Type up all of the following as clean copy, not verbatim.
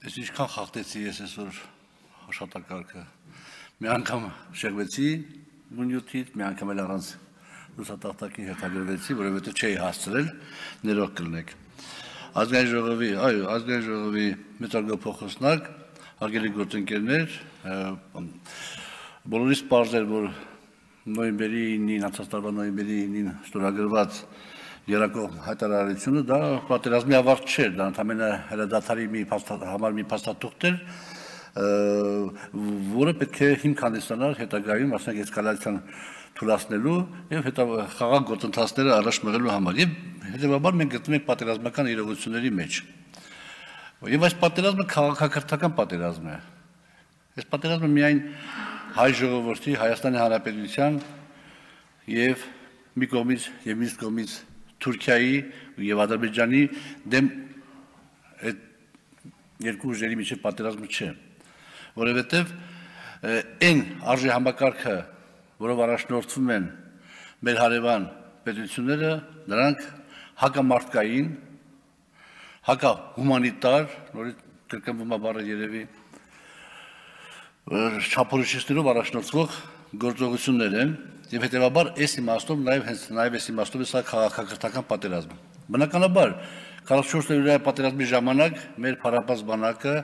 Ես ինչքան խախտեցի ես այսօր աշխատակարգը, մի անգամ շեղվեցի նյութից, մի անգամ էլ առանց լուսատախտակին հետագրվեցի, որովհետև չէի հասցրել, ներող կլինեք։ Ազգային ժողովի մեծարգոփոխոսնակ, հարգելի գործընկերներ, բոլորիս պարզ էր, որ նոյեմբերի 9-ին, անցած տարվա նոյեմբերի 9-ին ստորագրված երակող հայտարարությունը դա պատերազմի ավարտ չէր, դա ընդամենը հրադադարի համար մի փաստաթուղթ էր, որը պետք է հիմք հանդիսանար հետագայում մասնակ էսկալացիան թույլատնելու եւ խաղաղ գործընթացները առաջ մղելու համար եւ հետեւաբար մենք գտնվում ենք պատերազմական իրողությունների մեջ եւ այս պատերազմը քաղաքակրթական պատերազմ է այս պատերազմը միայն հայ ժողովրդի Հայաստանի Հանրապետության եւ մի կողմից եւ մյուս կողմից Թուրքիայի եւ Ադրբեջանի դեմ այդ երկու ուժերի միջև պատերազմը չէ, որովհետեւ այն արժի համակարգը, որով առաջնորդվում են մեր հարևան պետությունները, նրանք հակամարտկային, հակահումանիտար, նորից կրկնվում է բառը երևի, չափորոշիչներով առաջնորդվող գործողություններ են եւ հետեւաբար այս իմաստով նաեւ այս իմաստով է սա քաղաքակրթական պատերազմ։ Բնականաբար 44 օրյա պատերազմի ժամանակ մեր փառապած բանակը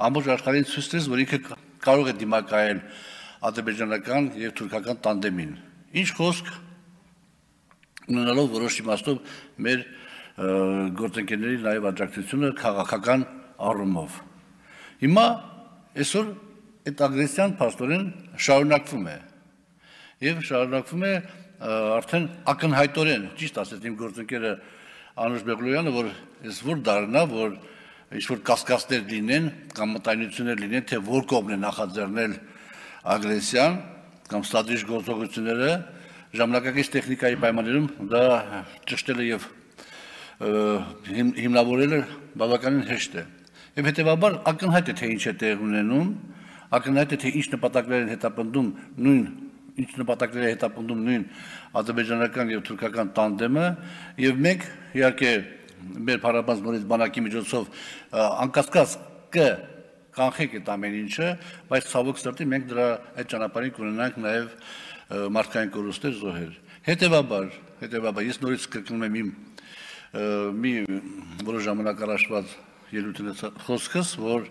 ամբողջ աշխարհին ցույց տվեց, որ ինքը կարող է դիմակայել ադրբեջանական եւ թուրքական տանդեմին։ Ինչ խոսք ունենալով որոշ իմաստով մեր գործընկերների նաեւ աջակցությունը քաղաքական առումով։ Հիմա այսօր այդ ագրեսիան փաստորեն շարունակվում է եւ շարունակվում է արդեն ակնհայտորեն, ճիշտ ասած իմ գործընկերը Անուշ Բեղլոյանը, որ ես որ դառնա, որ ինչ-որ կասկածներ լինեն կամ մտայնություններ լինեն, թե որ կողմն է նախաձեռնել ագրեսիան կամ ստρατեգիկ գործողությունները ժամանակակից տեխնիկայի պայմաններում դա ճշտելը եւ հիմնավորելը բավականին հեշտ է։ Եվ հետեւաբար ակնհայտ է թե ինչ է տեղ ունենում, ակնհայտ է թե ինչ նպատակներ են հետապնդում նույն ադրբեջանական եւ թուրքական տանդեմը եւ մենք իհարկե մեր փառաբանց նորից բանակի միջոցով անկասկած կանխենք այդ ամեն ինչը, բայց ցավոք սրտի մենք դրա այդ ճանապարհին կունենանք նաեւ մարդկային կորուստներ զոհեր։ Հետեւաբար ես նորից կրկնում եմ մի որոշ ժամանակ առաջված ելույթի խոսքս, որ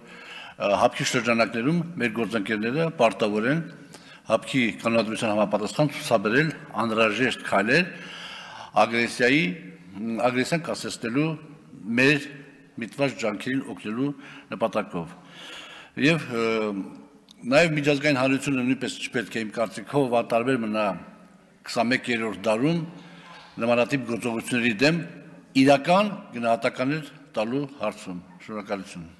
հապկի շրջանակներում մեր գործընկերները պարտավոր են հապկի կանոնադրության համապատասխան ցուցաբերել անհրաժեշտ քայլեր ագրեսիան կասեցնելու մեր միտված ջանքերին օգնելու նպատակով։ Եվ նաև միջազգային հանրությունը նույնպես չպետք է իմ կարծիքով անտարբեր մնա 21-րդ դարում նմանատիպ գործողությունների դեմ իրական գնահատականներ տալու հարցում։ Շնորհակալություն։